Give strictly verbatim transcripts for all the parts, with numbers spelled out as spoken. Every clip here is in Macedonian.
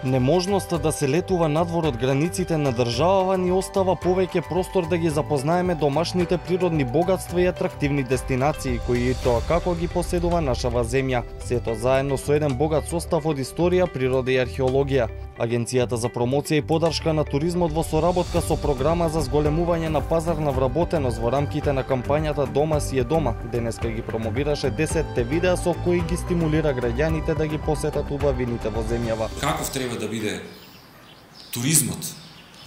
Неможноста да се летува надвор од границите на државава ни остава повеќе простор да ги запознаеме домашните природни богатства и атрактивни дестинации кои и тоа како ги поседува нашава земја, сето заедно со еден богат состав од историја, природа и археологија. Агенцијата за промоција и поддршка на туризмот во соработка со програма за зголемување на пазарна вработеност во рамките на кампањата Дома си е дома, денеска ги промовираше десетте видеа со кои ги стимулира граѓаните да ги посетат убавините во земјава. Каков треба да биде туризмот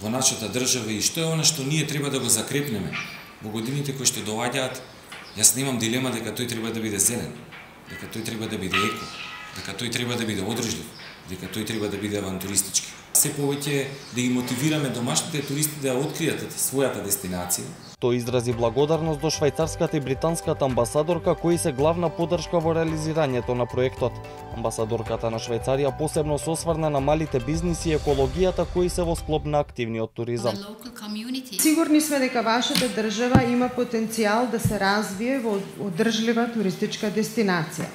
во нашата држава и што е она што ние треба да го закрепнеме во годините кои што доаѓаат? Јас немам дилема дека тој треба да биде зелен, дека тој треба да биде еко, дека тој треба да биде одржлив, дека тој треба да биде авантуристички. Се повеќе да ги мотивираме домашните туристи да откријат својата дестинација. Тој изрази благодарност до швајцарската и британската амбасадорка кои се главна поддршка во реализирањето на проектот. Амбасадорката на Швајцарија посебно се осврна на малите бизниси и екологијата кои се во склоп на активниот туризам. Сигурни сме дека вашата држава има потенцијал да се развие во одржлива туристичка дестинација.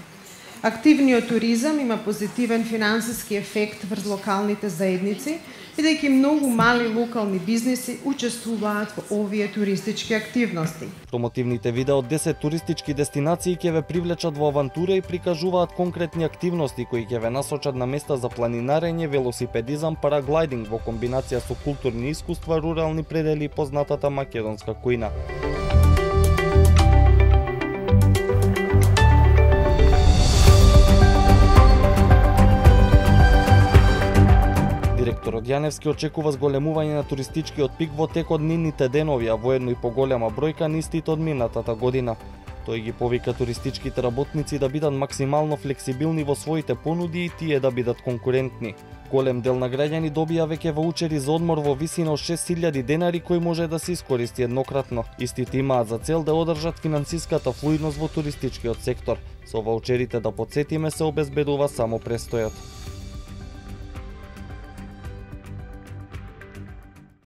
Активниот туризам има позитивен финансиски ефект врз локалните заедници, бидејќи многу мали локални бизниси учествуваат во овие туристички активности. Промотивните видеа од десет туристички дестинации ќе ве привлечат во авантура и прикажуваат конкретни активности кои ќе ве насочат на места за планинарење, велосипедизам, параглайдинг во комбинација со културни искуства, рурални предели и познатата македонска кујна. Директорот Јаневски очекува зголемување на туристичкиот пик во тек од нивните денови, а воедно и поголема бројка на истите од минатата година. Тој ги повика туристичките работници да бидат максимално флексибилни во своите понуди и тие да бидат конкурентни. Голем дел на граѓани добија веќе ваучери за одмор во висина од шест илјади денари кој може да се искористи еднократно. Истите имаат за цел да одржат финансиската флуидност во туристичкиот сектор. Со ваучерите, да потсетиме, се обезбедува само престојот.